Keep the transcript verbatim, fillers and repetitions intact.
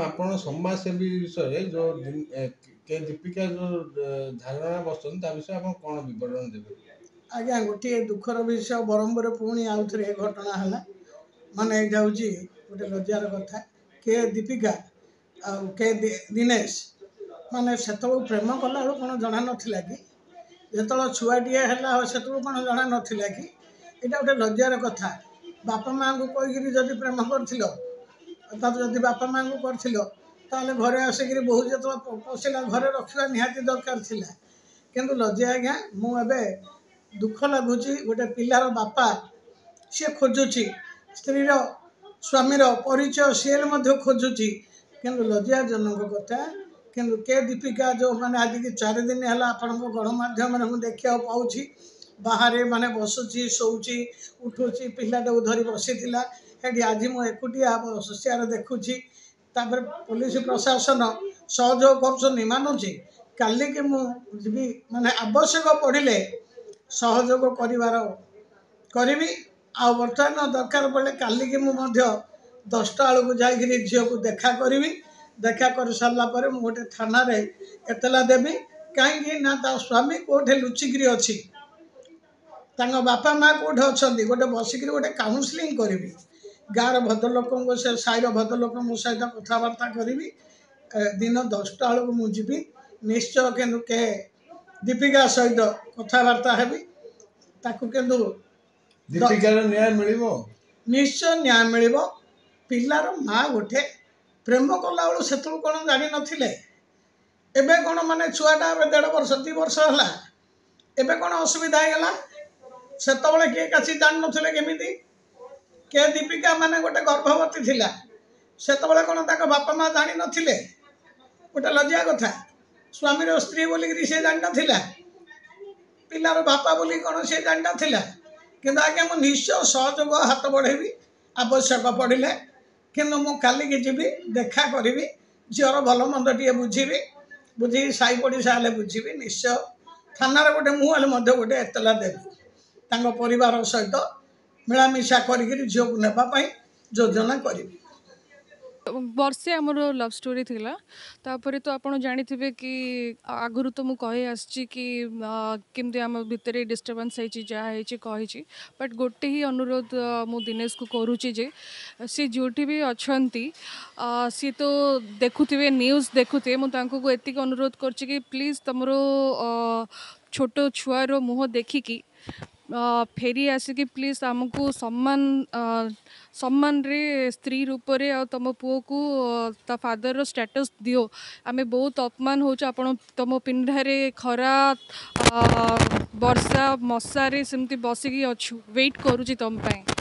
ଆପଣ ସମାଜସେବୀ ବିଷୟରେ ଯୋଉ ଦିନ- ଏ, କେ ଦୀପିକା ଯୋଉ ଏ, ଧାରଣା ବସିଛନ୍ତି ତା ବିଷୟରେ ଆପଣ କ'ଣ ବିବରଣୀ ଦେବେ? ଆଜ୍ଞା, ଗୋଟିଏ ଦୁଃଖର ବିଷୟ, ବ୍ରହ୍ମପୁରରେ ପୁଣି ଆଉଥରେ ଏ ଘଟଣା ହେଲା। ମାନେ ଏଇଟା ହେଉଛି ଗୋଟେ ଲଜ୍ଜାର କଥା। କେ ଦୀପିକା ଆଉ କେ ଦି- ଦିନେଶ ମାନେ ସେତେବେଳକୁ ପ୍ରେମ କଲାବେଳକୁ କ'ଣ ଜଣା ନଥିଲା କି? ଯେତେବେଳେ ଛୁଆଟିଏ ହେଲା ସେତେବେଳକୁ କ'ଣ ଜଣା ନଥିଲା କି? ଏଇଟା ଗୋଟେ ଲଜ୍ଜାର କଥା। ବାପା ମାଆଙ୍କୁ କହିକିରି ଯଦି ପ୍ରେମ କରିଥିଲ, ତାପରେ ଯଦି ବାପା ମାଆଙ୍କୁ କରିଥିଲ, ତାହେଲେ ଘରେ ଆସିକିରି ବୋହୂ ଯେତେବେଳେ ପ- ପଶିଲା, ଘରେ ରଖିବା ନିହାତି ଦରକାର ଥିଲା। କିନ୍ତୁ ଲଜ୍ଜା ଆଜ୍ଞା, ମୁଁ ଏବେ ଦୁଃଖ ଲାଗୁଛି। ଗୋଟେ ପିଲାର ବାପା ସିଏ ଖୋଜୁଛି ସ୍ତ୍ରୀର ସ୍ୱାମୀର ପରିଚୟ, ସିଏ ମଧ୍ୟ ଖୋଜୁଛି। କିନ୍ତୁ ଲଜ୍ଜାଜନକ କଥା। କିନ୍ତୁ କେ ଦୀପିକା ଯେଉଁମାନେ ଆଜିକି ଚାରି ଦିନ ହେଲା ଆପଣଙ୍କ ଗଣମାଧ୍ୟମରେ ମୁଁ ଦେଖିବାକୁ ପାଉଛି, ବାହାରେ ମାନେ ବସୁଛି, ଶୋଉଛି, ଉଠୁଛି, ପିଲାଟାକୁ ଧରି ବସିଥିଲା ସେଠି। ଆଜି ମୁଁ ଏକୁଟିଆ ବସିବାର ଦେଖୁଛି। ତାପରେ ପୋଲିସ ପ୍ରଶାସନ ସହଯୋଗ କରୁଛନ୍ତି ମାନୁଛି। କାଲିକି ମୁଁ ଯିବି, ମାନେ ଆବଶ୍ୟକ ପଡ଼ିଲେ ସହଯୋଗ କରିବାର କରିବି। ଆଉ ବର୍ତ୍ତମାନ ଦରକାର ପଡ଼ିଲେ କାଲିକି ମୁଁ ମଧ୍ୟ ଦଶଟା ବେଳକୁ ଯାଇକିରି ଝିଅକୁ ଦେଖା କରିବି। ଦେଖା କରିସାରିଲା ପରେ ମୁଁ ଗୋଟେ ଥାନାରେ ଏତଲା ଦେବି। କାହିଁକି ନା ତା ସ୍ୱାମୀ କେଉଁଠି ଲୁଚିକିରି ଅଛି, ତାଙ୍କ ବାପା ମା କେଉଁଠି ଅଛନ୍ତି, ଗୋଟେ ବସିକିରି ଗୋଟେ କାଉନସିଲିଂ କରିବି। ଗାଁର ଭଦ୍ରଲୋକଙ୍କ ସେ ସାହିର ଭଦ୍ରଲୋକଙ୍କ ସହିତ କଥାବାର୍ତ୍ତା କରିବି। ଏ, ଦିନ ଦଶଟା ବେଳକୁ ମୁଁ ଯିବି ନିଶ୍ଚୟ। କିନ୍ତୁ କେ ଦୀପିକା ସହିତ କଥାବାର୍ତ୍ତା ହେବି ତାକୁ। କିନ୍ତୁ ଦୀପିକାର ନ୍ୟାୟ ମିଳିବ? ନିଶ୍ଚୟ ନ୍ୟାୟ ମିଳିବ। ପିଲାର ମା ଗୋଟେ ପ୍ରେମ କଲାବେଳୁ ସେତେବେଳକୁ କ'ଣ ଜାଣିନଥିଲେ? ଏବେ କ'ଣ ମାନେ ଛୁଆଟା ଏବେ ଦେଢ଼ ବର୍ଷ ଦୁଇ ବର୍ଷ ହେଲା, ଏବେ କ'ଣ ଅସୁବିଧା ହେଇଗଲା? ସେତେବେଳେ କିଏ କାଛି ଜାଣିନଥିଲେ କେମିତି? କେ ଦୀପିକା ମାନେ ଗୋଟେ ଗର୍ଭବତୀ ଥିଲା, ସେତେବେଳେ କ'ଣ ତାଙ୍କ ବାପା ମା ଜାଣିନଥିଲେ? ଗୋଟେ ଲଜ୍ଜା କଥା। ସ୍ୱାମୀର ସ୍ତ୍ରୀ ବୋଲିକିରି ସେ ଜାଣିନଥିଲା? ପିଲାର ବାପା ବୋଲି କ'ଣ ସେ ଜାଣିନଥିଲା? କିନ୍ତୁ ଆଜ୍ଞା, ମୁଁ ନିଶ୍ଚୟ ସହଯୋଗ ହାତ ବଢ଼େଇବି ଆବଶ୍ୟକ ପଡ଼ିଲେ। କିନ୍ତୁ ମୁଁ କାଲିକି ଯିବି, ଦେଖା କରିବି, ଝିଅର ଭଲ ମନ୍ଦ ଟିକେ ବୁଝିବି, ବୁଝିକି ସାହି ପଡ଼ିଶା ହେଲେ ବୁଝିବି। ନିଶ୍ଚୟ ଥାନାରେ ଗୋଟେ ମୁଁ ହେଲେ ମଧ୍ୟ ଗୋଟେ ଏତଲା ଦେବି। ତାଙ୍କ ପରିବାର ସହିତ ମିଳାମିଶା କରିକିରି ଝିଅକୁ ନେବା ପାଇଁ ଯୋଜନା କରିବି। ବର୍ଷେ ଆମର ଲଭ୍ ଷ୍ଟୋରି ଥିଲା। ତାପରେ ତ ଆପଣ ଜାଣିଥିବେ କି ଆଗରୁ ତ ମୁଁ କହି ଆସିଛି କି ଆ, କେମିତି ଆମ ଭିତରେ ଡିଷ୍ଟର୍ବାନ୍ସ ହେଇଛି, ଯାହା ହେଇଛି କହିଛି। ବଟ୍ ଗୋଟେ ହିଁ ଅନୁରୋଧ ଆ, ମୁଁ ଦିନେଶକୁ କରୁଛି ଯେ ସେ ଯେଉଁଠି ବି ଅଛନ୍ତି, ଆ, ସିଏ ତ ଦେଖୁଥିବେ, ନ୍ୟୁଜ୍ ଦେଖୁଥିବେ, ମୁଁ ତାଙ୍କୁ ଏତିକି ଅନୁରୋଧ କରୁଛି କି ପ୍ଲିଜ୍ ତମର ଆ, ଛୋଟ ଛୁଆର ମୁହଁ ଦେଖିକି ଆ, ଫେରି ଆସିକି ପ୍ଲିଜ୍ ଆମକୁ ସମ୍ମାନ ଆ, ସମ୍ମାନରେ ସ୍ତ୍ରୀ ରୂପରେ ଆଉ ତମ ପୁଅକୁ ଆ, ତା ଫାଦରର ଷ୍ଟାଟସ୍ ଦିଅ। ଆମେ ବହୁତ ଅପମାନ ହେଉଛୁ। ଆପଣ ତମ ପିଣ୍ଡାରେ ଖରା ଆ, ବର୍ଷା ମଶାରେ ସେମିତି ବସିକି ଅଛୁ, ୱେଟ୍ କରୁଛି ତମ ପାଇଁ।